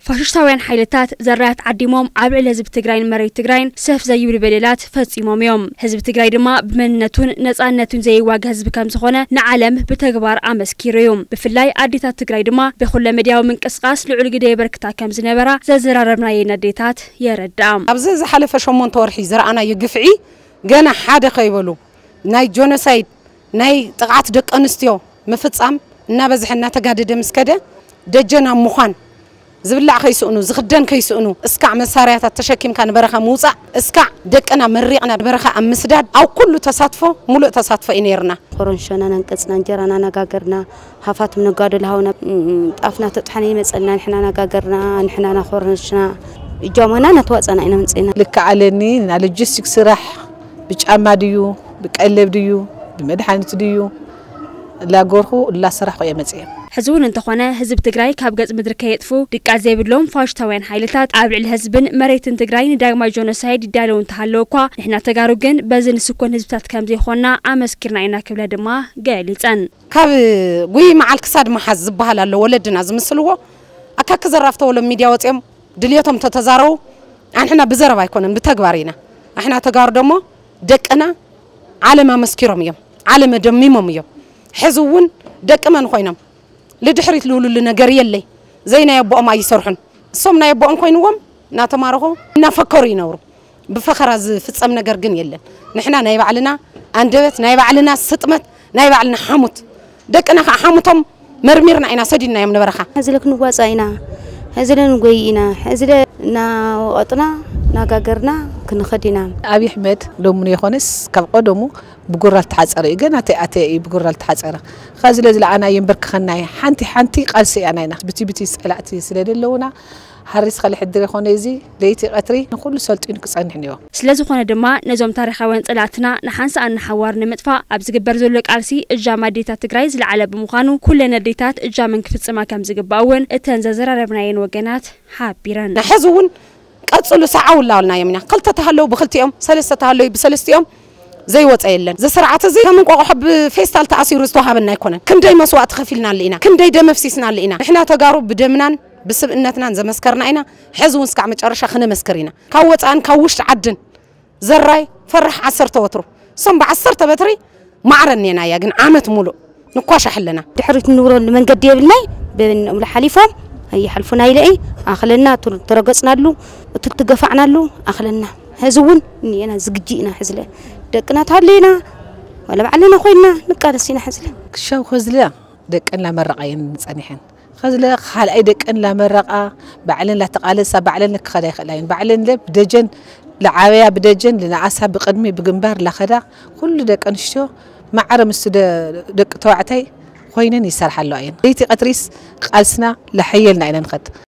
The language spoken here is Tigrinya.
ፋሽስታውያን ሓይልታት ዘራያት ዓዲሞም ኣብ ልዕሊ ህዝቢ ትግራይን መሬት ትግራይን ሰፍ ዘይብሉ በደላት ፈጺሞም እዮም። ህዝቢ ትግራይ ድማ ብመንነቱን ነጻነቱን ዘይዋጋ ህዝቢ ከም ዝኾነ ንዓለም ብተግባር ኣመስኪሩ እዩ። ብፍላይ ኣዴታት ትግራይ ድማ ብኹለ መድያዊ ምንቅስቃስ ልዑል ግደ የበርክታ ከም ዝነበራ ዘዘራረብናየን ኣዴታት የረድኣ። ኣብዚ ዝሓለፈ ሸሞንተ ወርሒ ዝረኣናዮ ግፍዒ ገና ሓደ ከይበሉ ናይ ጆኖሳይድ ናይ ጥቕዓት ደቂ ኣንስትዮ ምፍጻም እናበዝሐ እናተጋደደ ምስ ከደ ደጀን ኣብ ምዃን ዝብላዕ ከይስእኑ ዝኽደን ከይስእኑ እስካዕ መሳርያታት ተሸኪምካ ንበረኻ ምውጻእ እስካዕ ደቅና መሪቕና ንበረኻ ኣብ ምስዳድ ኣብ ኩሉ ተሳትፎ ሙሉእ ተሳትፎ እዩ ነይርና። ኮረንሾና ነንቀጽና እንጀራና ነጋገርና ሃፋትም ነጋዶ ልሃውና ጣፍና ተጥሓነ ይመጸልና ንሕና ነጋገርና ንሕና ናኮረንሽና እጃማና ናተዋጸና ኢና ምጽና። ልክዓለኒ ና ሎጂስቲክ ስራሕ ብጫማ ድዩ ብቀለብ ድዩ ብመድሓኒት ድዩ ላጎርኹ ላሰራሕኹ እየ መጽየ። ሕዚ እውን እንተኾነ ህዝቢ ትግራይ ካብ ገጽ ምድሪ ከየጥፉ ድቃስ ዘይብሎም ፋሽስታውያን ሓይልታት ኣብ ልዕሊ ህዝብን መሬትን ትግራይ ንዳግማይ ጆኖሳይድ ይዳለዉ እንተሃለዉ እኳ ንሕና ተጋሩ ግን በዚ ንስኮን ህዝብታት ከም ዘይኾንና ኣመስኪርና ኢና ክብላ ድማ ገሊፀን። ካብ ጉይ መዓል ክሳድ መሓዝ ዝበሃል ኣሎ ወለድና ዝምስልዎ ኣካኪ ዘራፍ ተበሎም ሚድያ ወፂኦም ድልየቶም ተተዛረቡ ኣንሕና ብዘረባ ኣይኮነን ብተግባር ኢና ኣሕና ተጋሩ ደሞ ደቅና ዓለም ኣመስኪሮም እዮም ዓለም ኣደሚሞም እዮም ሕዚ እውን ደቂ መን ኮይኖም ልድሕሪት ልውልሉ ነገር የለይ ዘይናይ ኣቦኦም ኣይሰርሑን እሶም ናይ ኣቦኦም ኮይንዎም እናተማረኹ እናፈከሩ ይነብሩ ብፈኸራ ዝፍፀም ነገር ግን የለን ንሕና ናይ ባዕልና ኣንደበት ናይ ባዕልና ስጥመት ናይ ባዕልና ሓሙት ደቅና ከዓ ሓሙቶም መርሚርና ኢና ሰዲድናዮም ንበረኻ። ሕዚ ለ ክንዋፃእ ኢና፣ ሕዚ ለ ንጎይ ኢና፣ ሕዚ ለ እናወቐጥና እናጋገርና ክንኸድ ኢና። ኣብይ ኣሕመድ ሎሚ የኾነስ ካብ ቀደሙ ብጉራ ልተሓፀረ እዩ ገና ተይኣተየ እዩ ብጉራ ልተሓፀረ ኸዚ ለዝለዓና የንበርክኸና እየ ሓንቲ ሓንቲ ቃልሲ እያ ናይና ብቲ ብቲ ፀላእቲ ስለ ደለውና ሓሪስ ኸልሕድር የኾነ እዚ ለይቲ ቀትሪ ንኹሉ ሰልጢኑ ክፀንሕ እኒኦ። ስለዝኾነ ድማ ነዞም ታሪኻውያን ፀላእትና ንሓንሳእን ንሓዋር ንምጥፋእ ኣብ ዝግበር ዘሎ ቃልሲ እጃም ኣዴታት ትግራይ ዝለዓለ ብምዃኑ ኩለን ኣዴታት እጃመን ክፍፅማ ከምዝግባእ እውን እተን ዘዘራረብናየን ወገናት ሓቢረን። ሕዚ እውን ቀፅሉ ሰዓው እናበልናዮም ኢና ክልተ ተሃለዉ ብክልቲኦም ሰለስተ ተሃለዩ ብሰለስቲኦም ዘይወፀ የለን እዚ ስርዓት እዚ ከም እንቋቑሖ ብፌስታል ተኣሲሩ ዝተዋሃበና ኣይኮነን ክንደይ መስዋእቲ ከፊልናሉ ኢና ክንደይ ደም ኣፍሲስናሉ ኢና ንሕና ተጋሩ ብደምናን ብስብእነትናን ዘመስከርና ኢና ሕዚ እውን ስካዕ መጨረሻ ክነመስክር ኢና ካብ ወፃእን ካብ ውሽጢ ዓድን ዘራይ ፈራሕ ዓሰርተ ወትሩ እሶም ብዓሰርተ በትሪ ማዕረ እኔናያ ግን ዓመት ሙሉእ ንኳሻሕ ኣለና። ድሕሪት ንብረሉ መንገዲ የብልናይ በበይኖም ሓሊፎም ኣይሓልፉና ኢለ እየ ኣኽለና እቱ ተረገፅናሉ እቱ ትገፋዕናሉ ኣኽለና ሕዚ እውን እኒኤና ዝግጂ ኢና ሕዝለ ደቅና ተሃለይና ዋላ ባዕልና ኮይንና ንቃለስ ኢና ሕዝለ። ክሻው ከዝለ ደቀን ላመረቓ እየን ጸኒሐን። ኸዝለ ኻልኣይ ደቀን ላመረቓ ባዕለን ላተቓለሳ ባዕለን ክኸዳ ይኽእላ እየን። ባዕለን ለ ብደጀን ለዓበያ ብደጀን ልነኣሳ ብቕድሚ ብግንባር ላኸዳ ኩሉ ደቂ ኣንስትዮ ማዕረ ምስቲ ደቂ ተባዕታይ ኮይነን ይሰርሓ ኣለዋ እየን። ለይቲ ቀትሪስ ቃልስና ላሐየልና ኢና ንኸድ።